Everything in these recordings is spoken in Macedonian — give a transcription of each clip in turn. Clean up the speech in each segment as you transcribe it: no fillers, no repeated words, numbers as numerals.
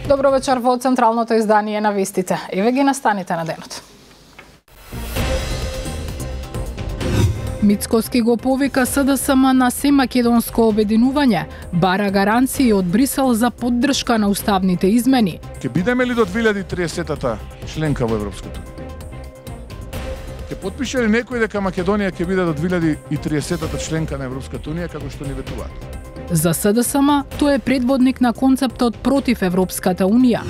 Добро вечер во централното издание на вестите. Еве ги настаните на денот. Мицкоски го повика СДСМ на семакедонско обединување, бара гаранции од Брисел за поддршка на уставните измени. Ќе бидеме ли до 2030-та членка во Европското? Ќе потпише ли некој дека Македонија ќе биде до 2030-та членка на Европската унија како што ни ветуваат? За СДСМ тој е предводник на концептот против Европската унија.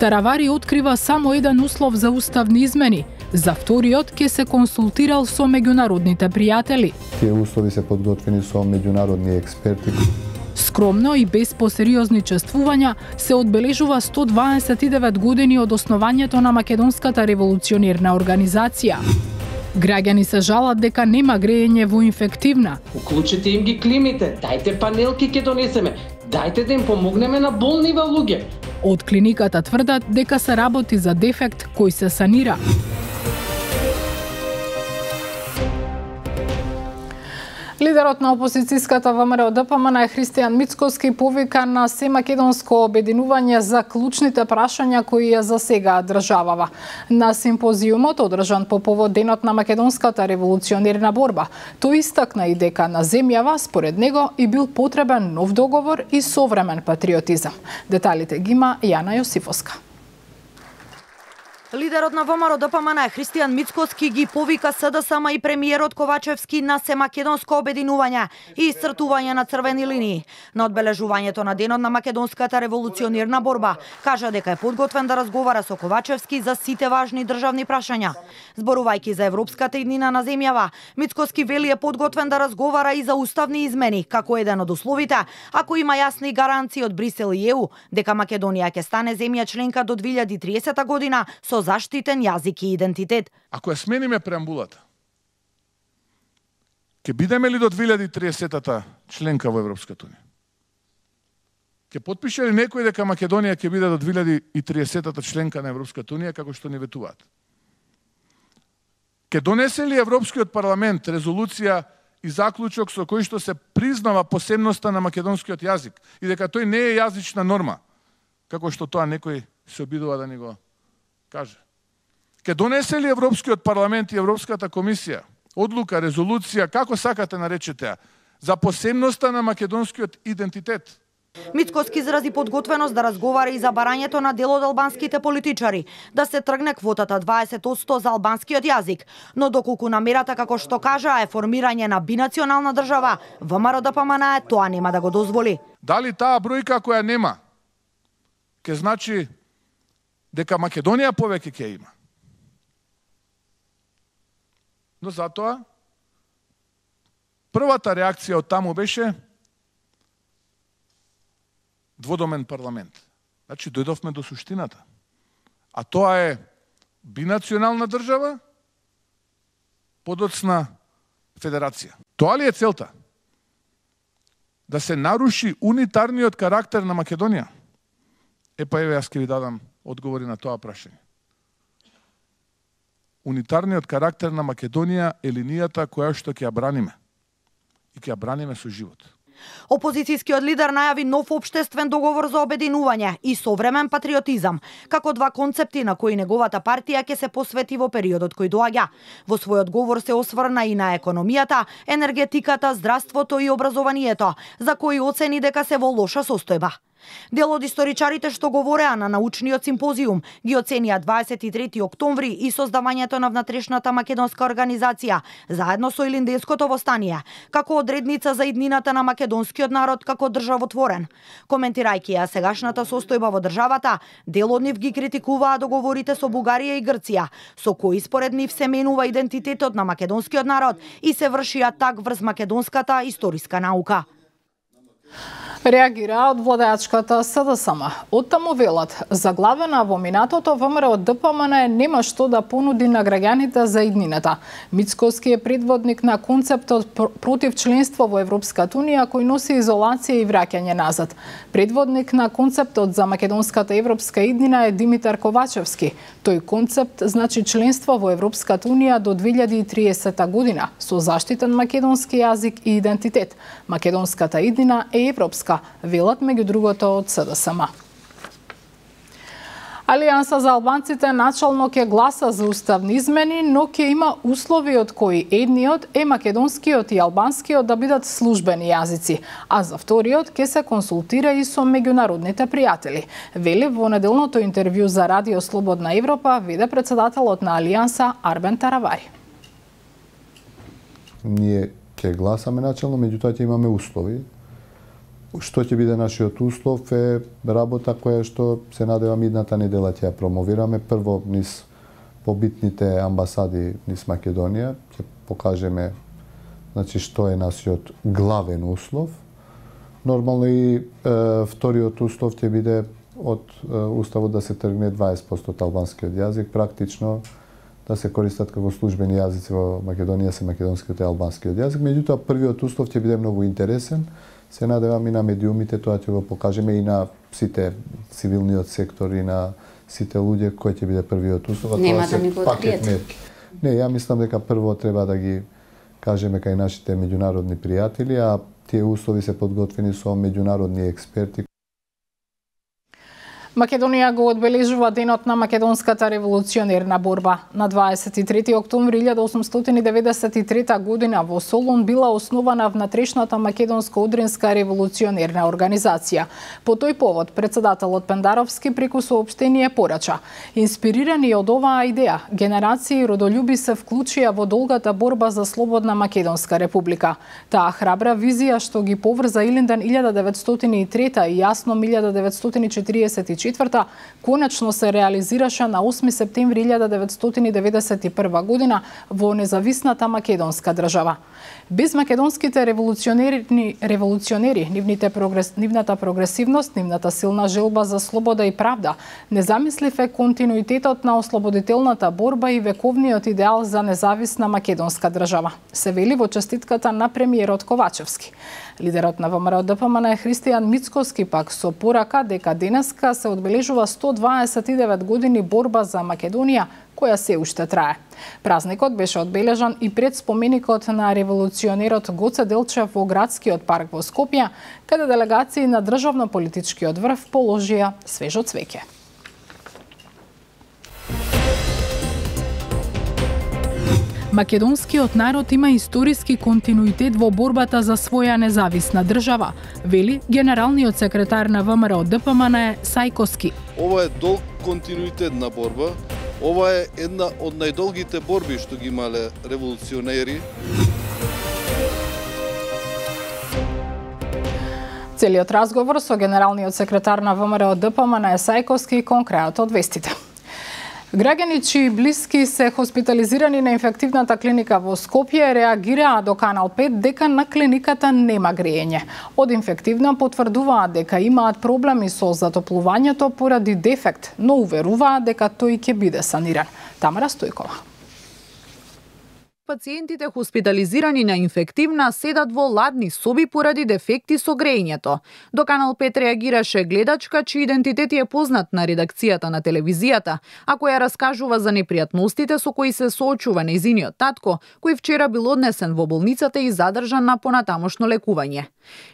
Таравари открива само еден услов за уставни измени. За вториот ќе се консултирал со меѓународните пријатели. Тие услови се подготвени со меѓународни експерти. Скромно и без посериозни чествувања се одбележува 129 години од основањето на Македонската револуционерна организација. Граѓани се жалат дека нема грејење во инфективна. Уклучете им ги климите, дајте панелки ќе донесеме, дајте да им помогнеме на болни луѓе. Од клиниката тврдат дека се работи за дефект кој се санира. Лидерот на опозицијската ВМРО-ДПМН Христијан Мицкоски повика на семакедонско обединување за клучните прашања кои ја засегаат државава. На симпозиумот, одржан по повод денот на македонската револуционерна борба, тој истакна и дека на земјава, според него, и бил потребен нов договор и современ патриотизам. Деталите ги има Јана Јосифовска. Лидерот на ВМРО-ДПМН Христијан Мицкоски ги повика СДСМ и премиерот Ковачевски на семакедонско обединување и исцртување на црвени линии. На одбележувањето на денот на македонската револуционерна борба кажа дека е подготвен да разговара со Ковачевски за сите важни државни прашања. Зборувајќи за европската иднина на земјава, Мицкоски вели е подготвен да разговара и за уставни измени, како еден од условите, ако има јасни гаранции од Брисел и ЕУ дека Македонија ќе стане земја членка до 2030 година со заштитен јазик и идентитет. Ако ја смениме преамбулата, ќе бидеме ли до 2030-та членка во Европската унија? Ќе потпише ли некој дека Македонија ќе биде до 2030-та членка на Европската унија како што ни ветуваат? Ќе донесе ли Европскиот парламент резолуција и заклучок со кој што се признава посебноста на македонскиот јазик и дека тој не е јазична норма, како што тоа некој се обидува да ни го каже? Ке донесе ли Европскиот парламент и Европската комисија одлука, резолуција, како сакате наречете ја, за посебноста на македонскиот идентитет? Мицкоски изрази подготвеност да разговара и за барањето на дел од албанските политичари, да се тргне квотата 20% за албанскиот јазик, но доколку намерата, како што кажа, е формирање на бинационална држава, ВМРО-ДПМН тоа нема да го дозволи. Дали таа бројка која нема, ке значи дека Македонија повеќе ќе има? Но затоа, првата реакција од таму беше дводомен парламент. Значи, дојдовме до суштината. А тоа е бинационална држава, подоцна федерација. Тоа ли е целта? Да се наруши унитарниот карактер на Македонија? Епа еве, јас ќе ви дадам одговори на тоа прашање. Унитарниот карактер на Македонија е линијата која што ќе ја браниме. И ќе ја браниме со живот. Опозицијскиот лидер најави нов општествен договор за обединување и современ патриотизам, како два концепти на кои неговата партија ќе се посвети во периодот кој доаѓа. Во својот говор се осврна и на економијата, енергетиката, здравството и образованието, за кои оцени дека се во лоша состојба. Дел од историчарите што говореа на научниот симпозиум ги оценија 23 октомври и создавањето на внатрешната македонска организација, заедно со Илинденското востание, како одредница за иднината на македонскиот народ како државотворен. Коментирајќи ја сегашната состојба во државата, дел од нив ги критикуваа договорите со Бугарија и Грција, со кои според нив се менува идентитетот на македонскиот народ и се врши атак врз македонската историска наука. Реагира од владеачката СДСМ. Оттаму велат, заглавена во минатото ВМРО-ДПМН нема што да понуди на граѓаните за иднината. Мицкоски е предводник на концептот против членство во Европската унија кој носи изолација и враќање назад. Предводник на концептот за македонската европска иднина е Димитар Ковачевски. Тој концепт значи членство во Европската унија до 2030 година со заштитен македонски јазик и идентитет. Македонската иднина е европска, велат меѓу другото од СДСМ. Алијанса за албанците начално ќе гласа за уставни измени, но ќе има услови од кои едниот е македонскиот и албанскиот да бидат службени јазици, а за вториот ќе се консултира и со меѓународните пријатели. Вели во неделното интервју за Радио Слободна Европа веде председателот на Алијанса Арбен Таравари. Ние ќе гласаме начално, меѓутоа ќе имаме услови. Што ќе биде нашиот услов е работа која што се надевам идната недела ќе ја промовираме. Прво низ побитните амбасади низ Македонија ќе покажеме што е нашиот главен услов. Нормално и вториот услов ќе биде од уставот да се тргне 20% албанскиот јазик, практично да се користат како службени јазици во Македонија се македонскиот и албанскиот јазик. Меѓутоа првиот услов ќе биде многу интересен. Се надевам и на медиумите, тоа ќе го покажеме и на сите цивилниот сектор и на сите луѓе кој ќе биде првиот услов. Нема да ни го откриете. Не, ја мислам дека прво треба да ги кажеме кај нашите меѓународни пријатели, а тие услови се подготвени со меѓународни експерти. Македонија го одбележува денот на македонската револуционерна борба. На 23 октомври 1893 година во Солун била основана внатрешната македонско-одринска револуционерна организација. По тој повод председателот Пендаровски преку соопштение порача: инспирирани од оваа идеја, генерации родолюби се вклучија во долгата борба за слободна Македонска република. Таа храбра визија што ги поврза Илинден 1903 и Јасном 1944 конечно се реализираше на 8 септември 1991 година во независната македонска држава. Без македонските револуционери, нивната прогресивност, нивната силна желба за слобода и правда, не замислив е континуитетот на ослободителната борба и вековниот идеал за независна македонска држава, се вели во честитката на премиерот Ковачевски. Лидерот на ВМРО-ДПМН Христијан Мицкоски пак со порака дека денеска се одбележува 129 години борба за Македонија, која се уште трае. Празникот беше одбележан и пред споменикот на револуционерот Гоце Делчев во градскиот парк во Скопје, каде делегации на државно-политичкиот врв положија свежо цвеќе. Македонскиот народ има историски континуитет во борбата за своја независна држава, вели генералниот секретар на ВМРО-ДПМН Сајковски. Ова е долг континуитет на борба. Ова е една од најдолгите борби што ги имале револуционери. Целиот разговор со генералниот секретар на ВМРО-ДПМН Сајковски кон крајот од вестите. Граѓани чии блиски се хоспитализирани на инфективната клиника во Скопје реагираа до Канал 5 дека на клиниката нема грејење. Од инфективна потврдуваат дека имаат проблеми со затоплувањето поради дефект, но уверуваат дека тој ќе биде саниран. Тамара Стојкова. Пациентите хоспитализирани на инфективна седат во ладни соби поради дефекти со грејењето. До Канал 5 реагираше гледачка чиј идентитет е познат на редакцијата на телевизијата, а која раскажува за непријатностите со кои се соочува нејзиниот татко, кој вчера бил однесен во болницата и задржан на понатамошно лекување.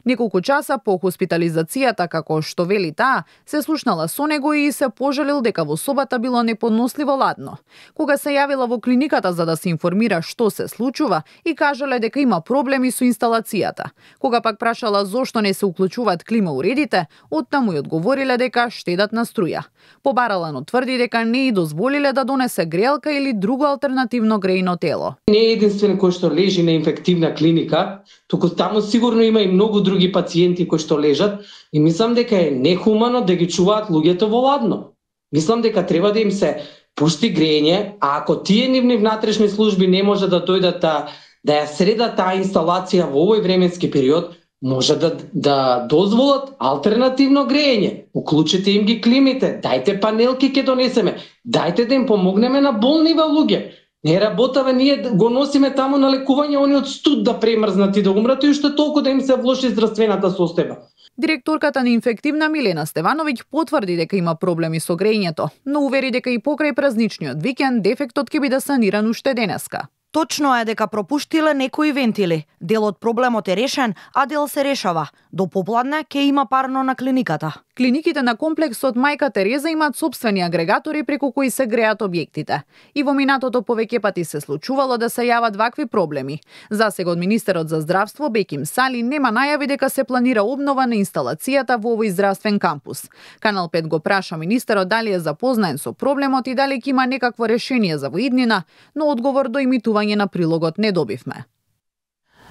Неколку часа по хоспитализацијата, како што вели таа, се слушнала со него и се пожалил дека во собата било неподносливо ладно. Кога се јавила во клиниката за да се информира што се случува и кажале дека има проблеми со инсталацијата. Кога пак прашала зошто не се уклучуваат клима уредите, оттаму и одговориле дека штедат на струја. Побаралано тврди дека не и дозволиле да донесе грелка или друго алтернативно грејно тело. Не е единствен кој што лежи на инфективна клиника, туку таму сигурно има и многу други пациенти кои што лежат и мислам дека е нехумано да ги чуваат луѓето во ладно. Мислам дека треба да им се пушти грејење, а ако тие нивни внатрешни служби не може да дојдат да ја средат таа инсталација во овој временски период, може да дозволат алтернативно грејење. Уклучете им ги климите, дајте панелки ќе донесеме, дајте да им помогнеме на болнива луѓе. Не работава, ние го носиме таму на лекување, они од студ да премрзнат и да умрат и уште толку да им се влоши здравствената состојба. Директорката на инфективна Милена Стевановиќ потврди дека има проблеми со грејењето, но увери дека и покрај празничниот викенд дефектот ќе биде саниран уште денеска. Точно е дека пропуштиле некои вентили. Дел од проблемот е решен, а дел се решава. До попладне ќе има парно на клиниката. Клиниките на комплексот Мајка Тереза имаат сопствени агрегатори преку кои се греат објектите. И во минатото повеќе пати се случувало да се јават вакви проблеми. Засега од министерот за здравство Беким Сали нема најави дека се планира обнова на инсталацијата во овој здравствен кампус. Канал 5 го праша министерот дали е запознаен со проблемот и дали ќе има некакво решение за во иднина, но одговор до имитување на прилогот не добивме.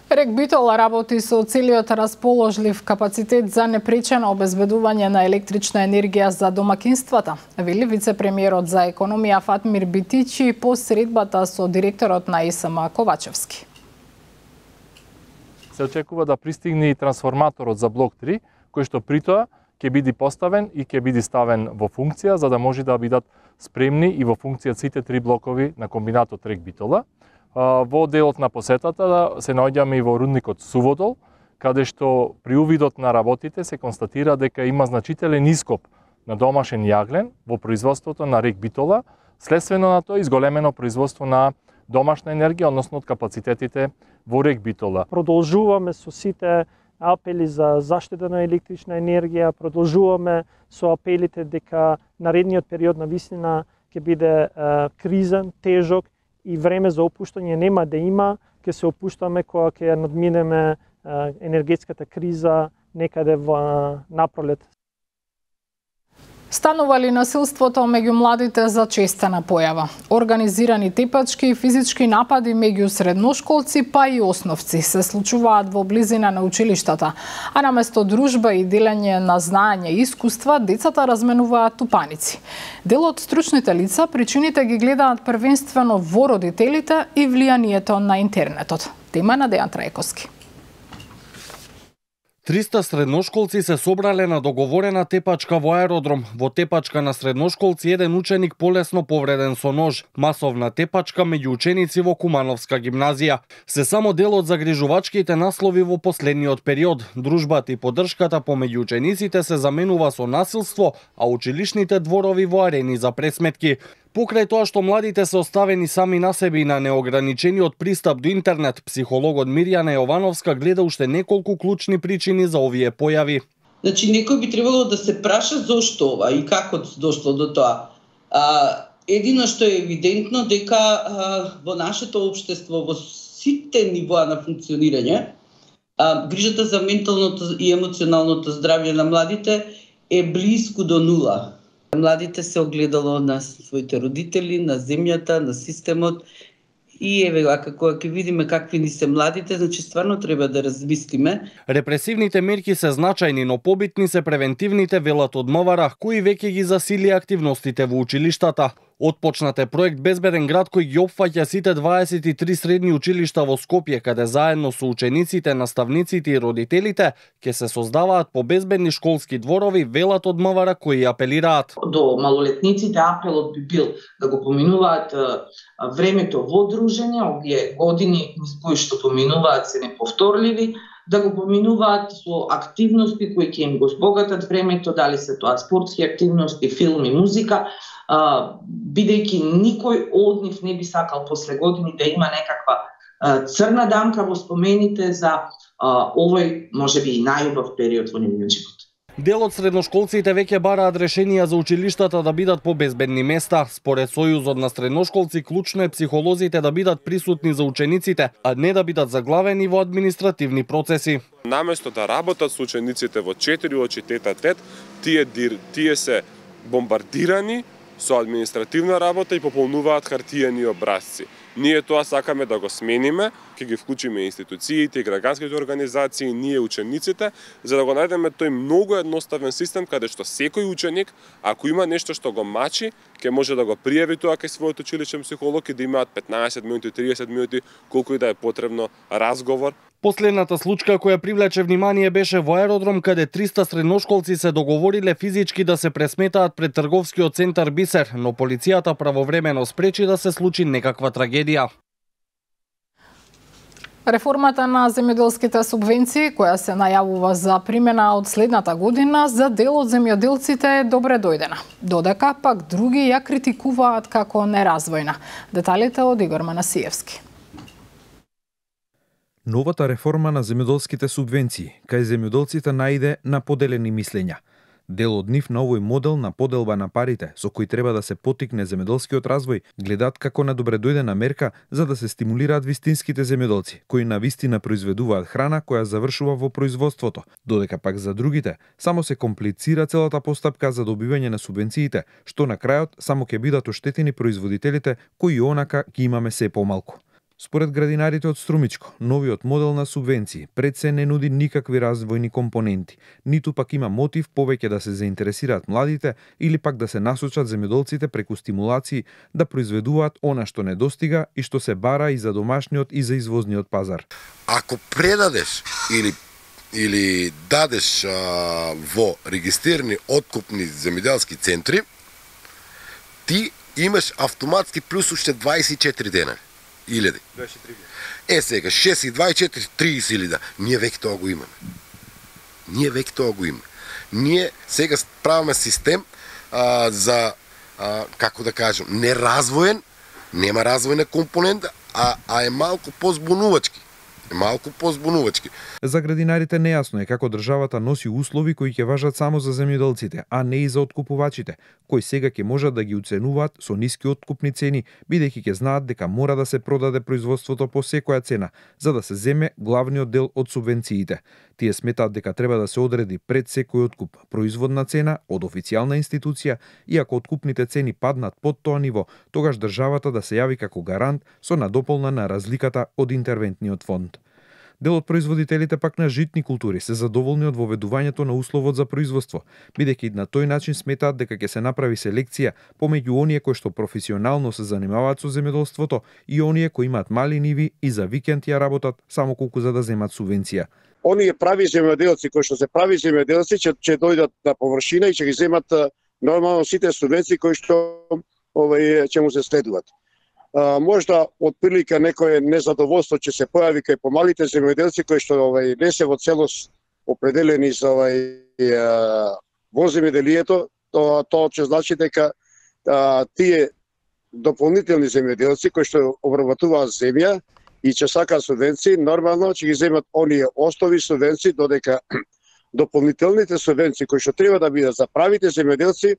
РЕК Битола работи со целиот расположлив капацитет за непречено обезбедување на електрична енергија за домакинствата, вели вице-премиерот за економија Фатмир Битичи по средбата со директорот на ИСМ Ковачевски. Се очекува да пристигне и трансформаторот за блок 3, кој што притоа ќе биде поставен и ќе биде ставен во функција за да може да бидат спремни и во функција сите 3 блокови на комбинатот РЕК Битола. Во делот на посетата се наоѓаме и во рудникот Суводол, каде што при увидот на работите се констатира дека има значителен ископ на домашен јаглен во производството на РЕК Битола, следствено на тоа изголемено производство на домашна енергија, односно од капацитетите во РЕК Битола. Продолжуваме со сите апели за заштита на електрична енергија, продолжуваме со апелите дека наредниот период на вистина ќе биде кризен, тежок и време за опуштање нема да има, ќе се опуштаме кога ќе надминеме енергетската криза некаде во напролет. Станува ли насилството меѓу младите за честена појава? Организирани тепачки и физички напади меѓу средношколци па и основци се случуваат во близина на училиштата, а наместо дружба и делење на знаење и искуства, децата разменуваат тупаници. Дел од стручните лица причините ги гледаат првенствено во родителите и влијанието на интернетот. Тема на Дејан Трајковски. 300 средношколци се собрале на договорена тепачка во аеродром. Во тепачка на средношколци еден ученик полесно повреден со нож. Масовна тепачка меѓу ученици во Кумановска гимназија. Се само дел од загрижувачките наслови во последниот период. Дружбата и поддршката помеѓу учениците се заменува со насилство, а училишните дворови во арени за пресметки. Покрај тоа што младите се оставени сами на себе и на неограничениот пристап до интернет, психологот Мирјана Јовановска гледа уште неколку клучни причини за овие појави. Значи, некој би требало да се праша зошто ова и како дошло до тоа. Едино што е евидентно дека во нашето општество, во сите нивоа на функционирање, грижата за менталното и емоционалното здравје на младите е близко до нула. Младите се огледало на своите родители, на земјата, на системот и еве како ќе видиме какви ни се младите, значи стварно треба да размислиме. Репресивните мерки се значајни, но побитни се превентивните, велат од МВР, кои веќе ги засили активностите во училиштата. Отпочнат е проект Безбеден град кој ги опфаќа сите 23 средни училишта во Скопје, каде заедно со учениците, наставниците и родителите ќе се создаваат побезбедни школски дворови, велат од МВР кои апелираат. До малолетниците апелот би бил да го поминуваат времето во дружење, овие години кои што поминуваат се неповторливи, да го поминуваат со активности кои ќе им го збогатат времето, дали се тоа спортски активности, филм и музика, бидејќи никој од нив не би сакал после години да има некаква црна дамка во спомените за овој можеби и најубав период во нивниот живот. Дел од средношколците веќе бараат решенија за училиштата да бидат побезбедни места. Според Сојузот на средношколци, клучно е психолозите да бидат присутни за учениците, а не да бидат заглавени во административни процеси. Наместо да работат со учениците во 4 очи тет-а-тет, тие се бомбардирани со административна работа и пополнуваат хартиени образци. Ние тоа сакаме да го смениме, ќе ги вклучиме институциите и граѓанските организации, ние учениците, за да го најдеме тој многу едноставен систем каде што секој ученик, ако има нешто што го мачи, ќе може да го пријави тоа кај својот училишен психолог и да имаат 15 минути, 30 минути, колку и да е потребно разговор. Последната случка која привлече внимание беше во аеродром, каде 300 средношколци се договориле физички да се пресметаат пред трговскиот центар Бисер, но полицијата правовремено спречи да се случи некаква трагедија. Реформата на земјоделските субвенции, која се најавува за примена од следната година, за дел од земјоделците е добре дојдена. Додека пак други ја критикуваат како неразвојна. Деталите од Игор Манасиевски. Новата реформа на земјоделските субвенции кај земјоделците најде на поделени мислења. Дел од нив на овој модел на поделба на парите, со кој треба да се поттикне земјоделскиот развој, гледаат како на добредојдена мерка за да се стимулираат вистинските земјоделци, кои навистина произведуваат храна која завршува во производството, додека пак за другите само се комплицира целата постапка за добивање на субвенциите, што на крајот само ќе бидат оштетени производителите кои онака ги имаме се помалку. Според градинарите од Струмичко, новиот модел на субвенции пред се не нуди никакви развојни компоненти, ниту пак има мотив повеќе да се заинтересираат младите или пак да се насочат земјоделците преку стимулации да произведуваат она што недостига и што се бара и за домашниот и за извозниот пазар. Ако предадеш или дадеш во регистрирани откупни земјоделски центри, ти имаш автоматски плюс уште 24 дена. 1000. Сега 6 и 24, 30.000. Ние веќе тоа го имаме. Ние сега правиме систем за како да кажем, неразвоен, нема развојна компонента, а е малку позбунувачки. За градинарите нејасно е како државата носи услови кои ќе важат само за земјоделците, а не и за откупувачите, кои сега ќе можат да ги уценуваат со ниски откупни цени, бидејќи ќе знаат дека мора да се продаде производството по секоја цена, за да се земе главниот дел од субвенциите. Тие сметаат дека треба да се одреди пред секој откуп производна цена од официјална институција и ако откупните цени паднат под тоа ниво, тогаш државата да се јави како гарант со надополна на разликата од интервентниот фонд. Дел од производителите пак на житни култури се задоволни од воведувањето на условот за производство, бидејќи на тој начин сметаат дека ќе се направи селекција помеѓу оние кои што професионално се занимаваат со земјоделството и оние кои имаат мали ниви и за викенд ја работат само колку за да земат субвенција. Оние прави земјоделци кои што се прави земјоделци ќе дојдат на површина и ќе ги земат нормално сите субвенции кои што ќе му се следуваат. Можда отприлика некое незадоволство ќе се појави кај помалите земјоделци кои што не се во целост определени за во земјоделието, тоа ќе значи дека тие дополнителни земјоделци кои што обработуваат земја и ќе сакаат субвенции, нормално ќе ги земат оние основи субвенции, додека дополнителните субвенции кои што треба да бидат за правите земјоделци,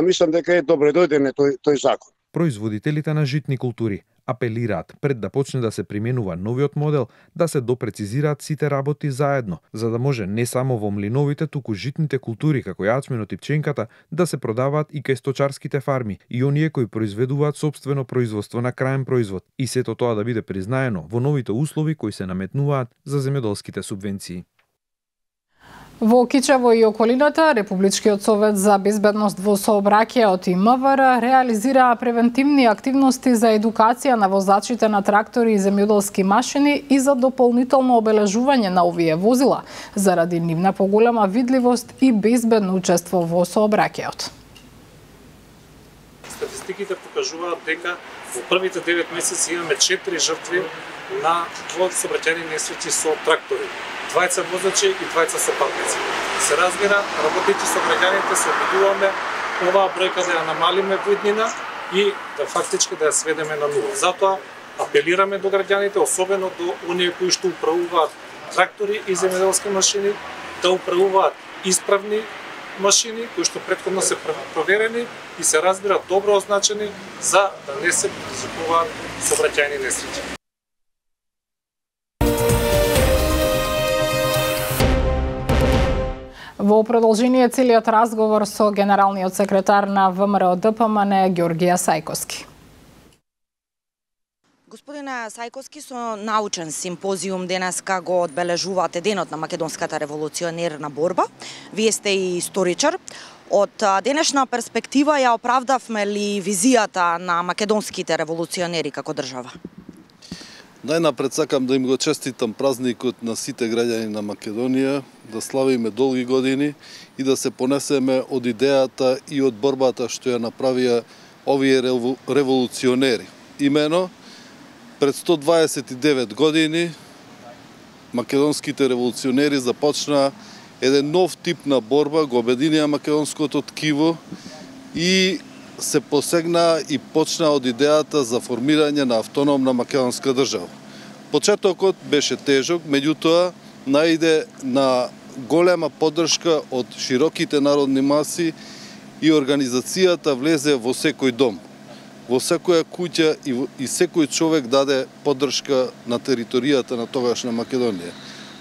мислам дека е добредојден тој закон. Производителите на житни култури апелираат пред да почне да се применува новиот модел да се допрецизираат сите работи заедно, за да може не само во млиновите, туку житните култури како јачменот и пченката да се продаваат и кај сточарските фарми и оние кои произведуваат сопствено производство на краен производ и сето тоа да биде признаено во новите услови кои се наметнуваат за земјоделските субвенции. Во Кичево и околината, Републичкиот совет за безбедност во сообраќајот и МВР реализира превентивни активности за едукација на возачите на трактори и земјоделски машини и за дополнително обележување на овие возила, заради нивна поголема видливост и безбедно учество во сообраќајот. Статистиките покажуваат дека во првите 9 месеци имаме 4 жртви на сообраќајни несреќи со трактори. 20 возачи и 20 сопатници. Се разбира, работејќи со граѓаните се обидуваме оваа бројка да ја намалиме во иднина и да фактички да ја сведеме на нула. Затоа апелираме до граѓаните, особено до оние кои што управуваат трактори и земјоделски машини, да управуваат исправни машини кои што претходно се проверени и се разбира добро означени за да не се предизвикуваат сообраќајни несреќи. Во продолжение целиот разговор со генералниот секретар на ВМРО ДПМН Ѓорѓија Сајковски. Господине Сајковски, со научен симпозиум денеска го одбележувате денот на македонската револуционерна борба. Вие сте и историчар. Од денешна перспектива ја оправдавме ли визијата на македонските револуционери како држава? Најнапред сакам да им го честитам празникот на сите граѓани на Македонија, да славиме долги години и да се понесеме од идејата и од борбата што ја направија овие револуционери. Имено, пред 129 години македонските револуционери започнаа еден нов тип на борба, го обединија македонското ткиво и се посегна и почна од идејата за формирање на автономна македонска држава. Почетокот беше тежок, меѓутоа најде на голема поддршка од широките народни маси и организацијата влезе во секој дом, во секоја куќа и секој човек даде поддршка на територијата на тогашна Македонија.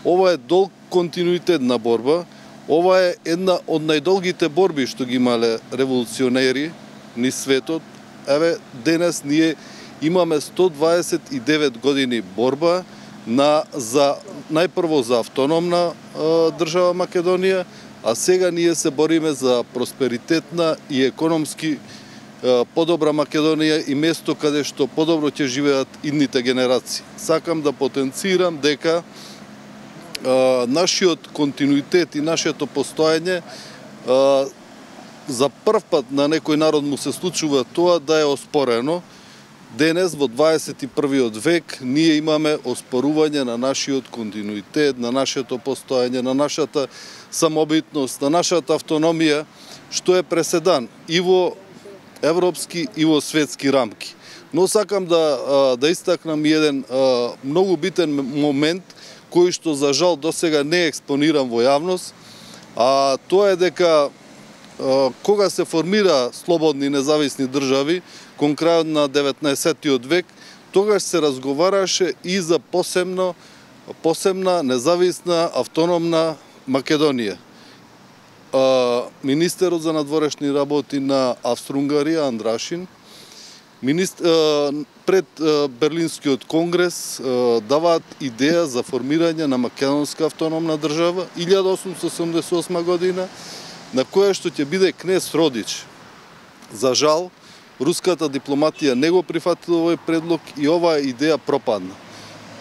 Ова е долг континуитет на борба, ова е една од најдолгите борби што ги имале револуционери низ светот. Еве, денес ние имаме 129 години борба најпрво за автономна држава Македонија, а сега ние се бориме за просперитетна и економски подобра Македонија и место каде што подобро ќе живеат идните генерации. Сакам да потенцирам дека нашиот континуитет и нашето постоење за прв пат на некој народ му се случува тоа да е оспорено. Денес, во 21. век, ние имаме оспорување на нашиот континуитет, на нашето постоење, на нашата самобитност, на нашата автономија, што е преседан и во европски и во светски рамки. Но сакам да истакнам еден многу битен момент, кој што за жал досега не е експониран во јавност, а тоа е дека кога се формира слободни независни држави, кон крајот на 19. век, тогаш се разговараше и за посебна независна автономна Македонија. Министерот за надворешни работи на Австро-Унгарија, Андрашин, пред Берлинскиот конгрес даваат идеја за формирање на македонска автономна држава 1878 година, на која што ќе биде кнез Родич. За жал, руската дипломатија не го прифатила овој предлог и оваа идеја пропадна.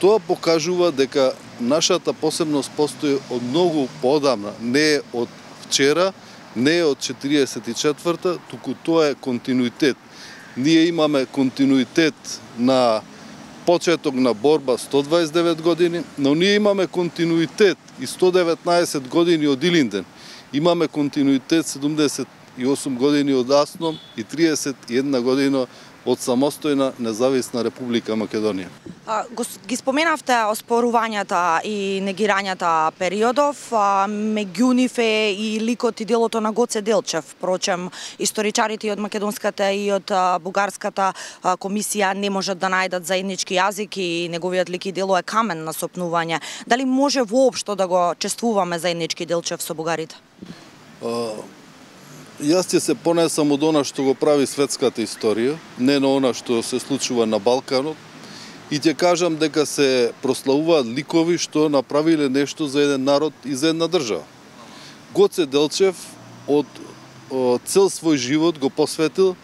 Тоа покажува дека нашата посебност постои од многу поодамна, не е од вчера, не е од 44-та, туку тоа е континуитет. Ние имаме континуитет на почеток на борба 129 години, но ние имаме континуитет и 119 години од Илинден. Имаме континуитет 78 години од Асном и 31 година од самостојна независна Република Македонија. Ги споменавте оспорувањата и негирањата периодов, меѓу нив е и ликот и делото на Гоце Делчев. Впрочем, историчарите и од македонската и од бугарската комисија не можат да најдат заеднички јазик и неговиот лик и дело е камен на сопнување. Дали може воопшто да го чествуваме заеднички Делчев со бугарите? Јас ќе се понесам од она што го прави светската историја, не на она што се случува на Балканот, и ќе кажам дека се прославуваат ликови што направиле нешто за еден народ и за една држава. Гоце Делчев од цел свој живот го посветил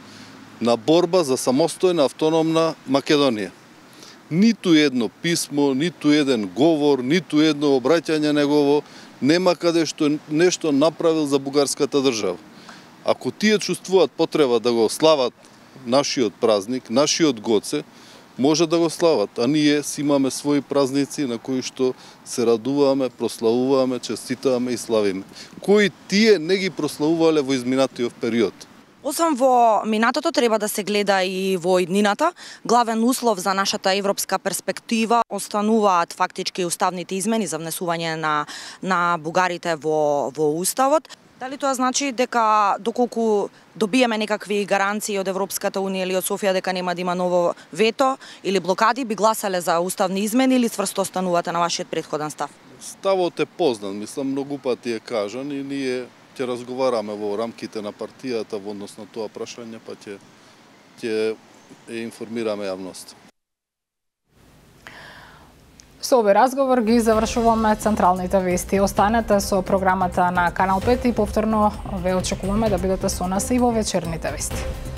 на борба за самостојна автономна Македонија. Ниту едно писмо, ниту еден говор, ниту едно обраќање негово нема каде што нешто направил за бугарската држава. Ако тие чувствуваат потреба да го слават нашиот празник, нашиот Гоце, може да го слават, а ние си имаме своји празници на кои што се радуваме, прославуваме, честитаваме и славиме. Кои тие не ги прославувале во изминатиот период. Освен во минатото, треба да се гледа и во иднината. Главен услов за нашата европска перспектива остануваат фактички уставните измени за внесување на бугарите во Уставот. Дали тоа значи дека доколку добиеме некакви гаранции од Европската унија или од Софија дека нема да има ново вето или блокади, би гласале за уставни измени или цврсто останувате на вашиот претходен став? Ставот е познат, мислам многу пати е кажан и ние ќе разговараме во рамките на партијата во однос на тоа прашање, па ќе информираме јавноста. Со овој разговор ги завршуваме централните вести. Останете со програмата на Канал 5 и повторно ве очекуваме да бидете со нас и во вечерните вести.